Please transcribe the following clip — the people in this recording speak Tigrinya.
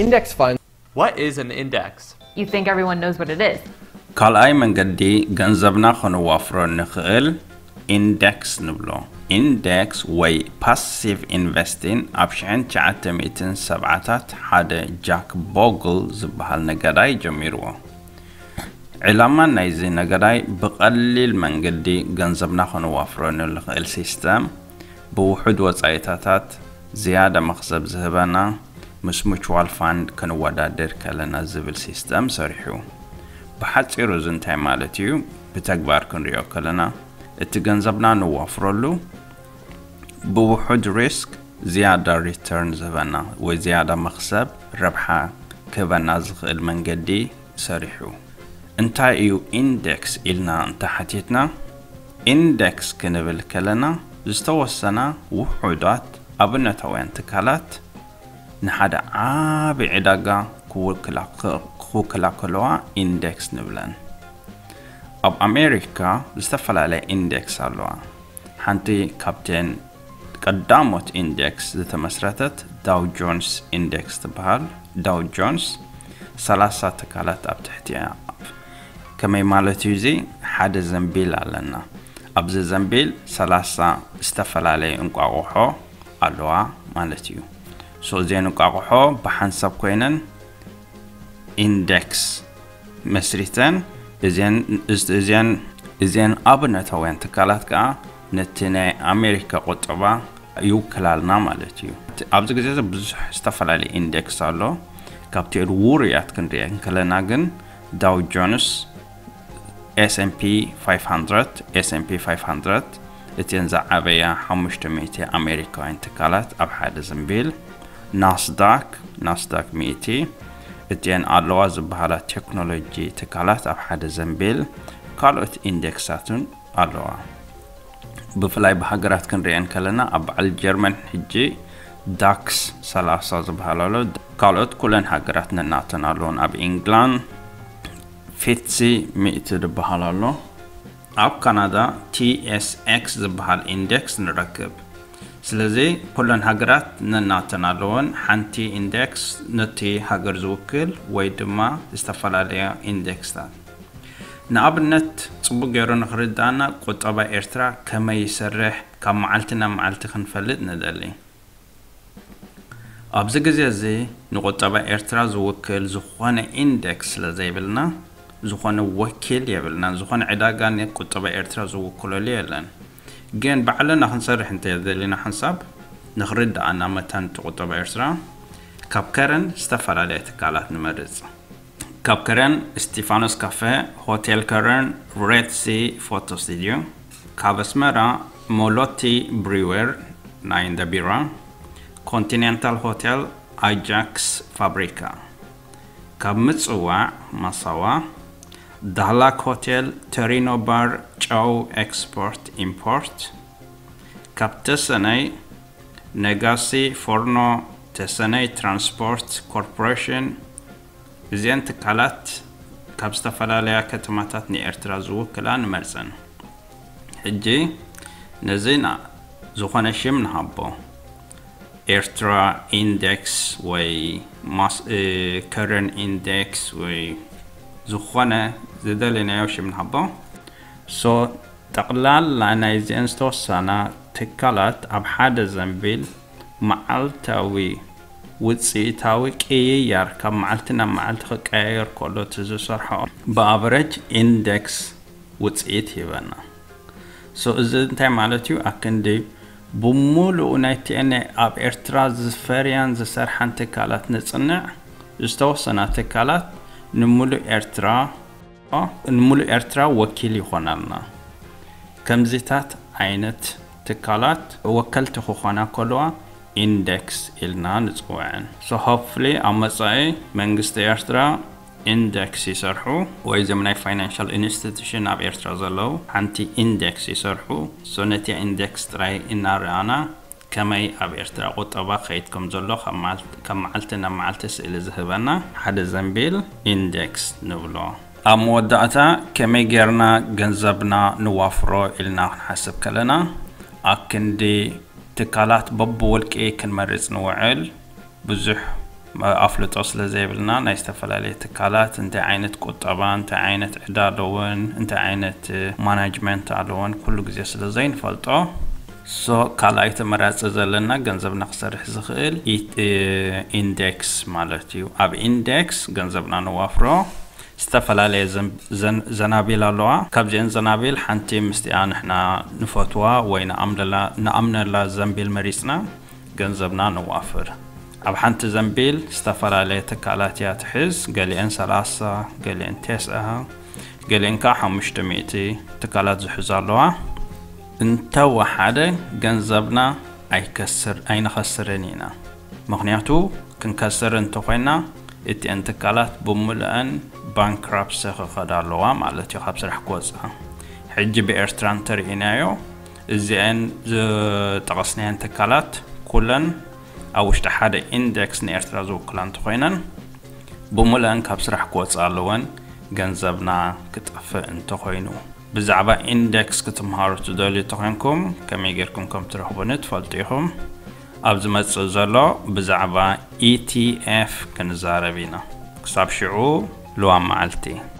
Index fund. What is an index? You think everyone knows what it is. ካልኣይ መንገዲ ገንዘብና ከነዋፍሮ ንኽእል ኢንደክስ ንብሎ። ኢንደክስ ወይ ፓሲቭ ኢንቨስቲንግ ኣብ ሽሕን ትሽዓተ ሚእትን ሰብዓታት ሓደ ጃክ ቦግል ዝበሃል ነጋዳይ ጀሚርዎ። ዕላማ ናይዚ ነጋዳይ ብቐሊል መንገዲ ገንዘብና ከነዋፍሮ ንኽእል ሲስተም ብውሑድ ወጻኢታታት ዝያዳ መኽሰብ ዝህበና ምስ ሙቹዋል ፋንድ ክንወዳደር ከለና ዝብል ሲስተም ሰሪሑ። ብሓጺሩ እዚ እንታይ ማለት እዩ? ብተግባር ክንሪኦ ከለና እቲ ገንዘብና ንዋፍረሉ ብውሑድ ሪስክ ዝያዳ ሪተርን ዝህበና ወይ ዝያዳ መኽሰብ ረብሓ ክህበና ዝኽእል መንገዲ ሰሪሑ። እንታይ እዩ ኢንደክስ ኢልና እንተሓቲትና፣ ኢንደክስ ክንብል ከለና ዝተወሰና ውሑዳት ኣብነታውያን ትካላት ንሓደ ዓቢ ዕዳጋ ክውክላ ከለዋ ኢንደክስ ንብለን። ኣብ ኣሜሪካ ዝተፈላለያ ኢንደክስ ኣለዋ። ሓንቲ ካብተን ቀዳሞት ኢንደክስ ዝተመስረተት ዳው ጆንስ ኢንደክስ ትበሃል። ዳው ጆንስ ሰላሳ ትካላት ኣብ ትሕቲኣ። ከመይ ማለት እዩ? እዚ ሓደ ዘንቢል ኣለና። ኣብዚ ዘንቢል ሰላሳ ዝተፈላለየ እንቋቑሖ ኣለዋ ማለት እዩ። ሶ እዚአን እንቋቑሖ ብሓንሳብ ኮይነን ኢንደክስ መስሪተን እዚአን ኣብነታውያን ትካላት ከዓ ነቲ ናይ ኣሜሪካ ቁጠባ ይውክላልና ማለት እዩ። ኣብዚ ግዜ እዚ ብዙሕ ዝተፈላለየ ኢንደክስ ኣሎ። ካብቲኦን ውሩያት ክንሪአን ከለና ግን ዳው ጆንስ፣ S&P five hundred፣ S&P five hundred እቲአን ዝዓበያ ሓሙሽተ ሚእቲ ኣሜሪካውያን ትካላት ኣብ ሓደ ዘንቢል፣ ናስዳክ፣ ናስዳክ ሚእቲ እቲአን ኣለዋ ዝበሃላ ቴክኖሎጂ ትካላት ኣብ ሓደ ዘንቢል፣ ካልኦት ኢንደክሳትን ኣለዋ። ብፍላይ ብሃገራት ክንሪአን ከለና ኣብ በዓል ጀርመን ሕጂ ዳክስ ሰላሳ ዝበሃል ኣሎ። ካልኦት ኩለን ሃገራት ነናተን ኣለውን። ኣብ ኢንግላንድ ፊትሲ ሚእቲ ዝበሃል ኣሎ። ኣብ ካናዳ ቲ ኤስ ኤክስ ዝበሃል ኢንደክስ ንረክብ። ስለዚ ኩለን ሃገራት ነናተን ኣለወን። ሓንቲ ኢንደክስ ነቲ ሃገር ዝውክል ወይ ድማ ዝተፈላለያ ኢንደክስታት። ንኣብነት ጽቡቕ ገይሩ ንኽርድኣና ቁጠባ ኤርትራ ከመይ ይሰርሕ ካብ መዓልቲ ናብ መዓልቲ ክንፈልጥ ንደሊ። ኣብዚ ግዜ እዚ ንቁጠባ ኤርትራ ዝውክል ዝኾነ ኢንደክስ ስለ ዘይብልና፣ ዝኾነ ወኪል የብልናን። ዝኾነ ዕዳጋ ንቁጠባ ኤርትራ ዝውክለሉ የለን። ግን ባዕልና ክንሰርሕ እንተደሊና ሓንሳብ ንኽርድኣና መታን እቲ ቁጠባ ኤርትራ ካብ ከረን ዝተፈላለያ ትካላት ንመርጽ። ካብ ከረን ስቲፋኖስ ካፈ፣ ሆቴል ከረን፣ ሬድ ሲ ፎቶ ስቱድዮ፣ ካብ ኣስመራ ሞሎቲ ብሪወር ናይ እንዳ ቢራ፣ ኮንቲኔንታል ሆቴል፣ ኣጃክስ ፋብሪካ፣ ካብ ምጽዋዕ ማሳዋ፣ ዳህላክ ሆቴል፣ ቶሪኖ ባር፣ ጨው ኤክስፖርት ኢምፖርት፣ ካብ ተሰነይ ነጋሲ ፎርኖ፣ ተሰነይ ትራንስፖርት ኮርፖሬሽን፣ እዚአን ትካላት ካብ ዝተፈላለያ ከተማታት ንኤርትራ ዝውክላ ንመርጸን። ሕጂ ነዚ ዝኾነ ሽም ንሃቦ። ኤርትራ ኢንደክስ ወይ ከረን ኢንደክስ ወይ ዝኾነ ዝደለናዮ ሽም ንሃቦ። ሶ ጠቕላላ ናይዚአን ዝተወሰና ትካላት ኣብ ሓደ ዘንቢል መዓልታዊ ውፅኢታዊ ቅይያር ካብ መዓልቲ ናብ መዓልቲ ክቀያየር ከሎ እቲ ዝሰርሖ ብኣቨረጅ ኢንደክስ ውፅኢት ይህበና። ሶ እዚ እንታይ ማለት እዩ? ኣክንዲ ብሙሉኡ ናይ ቲኤንኤ ኣብ ኤርትራ ዝፈርያን ዝሰርሓን ትካላት ንፅንዕ። ዝተወሰና ትካላት ንሙሉእ ኤርትራ ንሙሉእ ኤርትራ ወኪል ይኾናልና። ከምዚታት ዓይነት ትካላት ወከልቲ ክኾና ከለዋ ኢንደክስ ኢልና ንፅውዐን። So hopefully ኣብ መጻኢ መንግስቲ ኤርትራ ኢንደክስ ይሰርሑ ወይ እዞም ናይ ፋይናንሻል ኢንስቲቱሽን ኣብ ኤርትራ ዘለዉ ሓንቲ ኢንደክስ ይሰርሑ። So ነቲ ኢንደክስ ጥራይ እናረኣና ከመይ ኣብ ኤርትራ ቁጠባ ክኸይድ ከም ዘሎ ካብ መዓልቲ ናብ መዓልቲ ስእሊ ዝህበና ሓደ ዘንቢል ኢንደክስ ንብሎ። ኣብ መወዳእታ ከመይ ጌርና ገንዘብና ንዋፍሮ ኢልና ክንሓስብ ከለና ኣክንዲ ትካላት በብውልቂ ክንመርጽ ንውዕል ብዙሕ ኣፍልጦ ስለ ዘይብልና ናይ ዝተፈላለዩ ትካላት እንታይ ዓይነት ቁጠባ፣ እንታይ ዓይነት ዕዳ ኣለወን፣ እንታይ ዓይነት ማናጅመንት ኣለወን ኩሉ ግዜ ስለ ዘይንፈልጦ፣ ሶ ካልኣይ ተመራፂ ዘለና ገንዘብና ክሰርሕ ዝኽእል ኢንዴክስ ማለት እዩ። ኣብ ኢንዴክስ ገንዘብና ነዋፍሮ፣ ዝተፈላለየ ዘናቢል ኣለዋ። ካብዚአን ዘናቢል ሓንቲ ምስቲኣ ንሕና ንፈትዋ ወይ ንኣምነላ ዘንቢል መሪፅና ገንዘብና ነዋፍር። ኣብ ሓንቲ ዘንቢል ዝተፈላለየ ትካላት እያ ትሕዝ። ገሊአን ሰላሳ፣ ገሊአን ቴስዓ፣ ገሊአን ከዓ ሓሙሽተ ሚእቲ ትካላት ዝሕዙ ኣለዋ። እንተወሓደ ገንዘብና ኣይከስር ኣይንኸስርን ኢና። ምኽንያቱ ክንከስር እንተኾይና እቲአን ትካላት ብምልአን ባንክራፕሲ ክኸዳ ኣለዋ ማለት እዩ፣ ካብ ስራሕ ክወፅኣ። ሕጂ ብኤርትራ እንተርኢናዮ እዚአን ዝጠቐስናየን ትካላት ኩለን ኣብ ውሽጢ ሓደ ኢንዴክስ ንኤርትራ ዝውክላ እንተኾይነን ብምልአን ካብ ስራሕ ክወፅኣ ኣለወን፣ ገንዘብና ክጠፍእ እንተኾይኑ። ብዛዕባ ኢንዴክስ ክትምሃሩ ትደልዩ እንተኾይንኩም ከመይ ጌርኩም ከም ትረኽቡኒ ትፈልጡ ኢኹም። ኣብ ዝመጽእ ዘሎ ብዛዕባ ኢቲኤፍ ክንዛረብ ኢና። ክሳብ ሽዑ ልዋም መዓልቲ።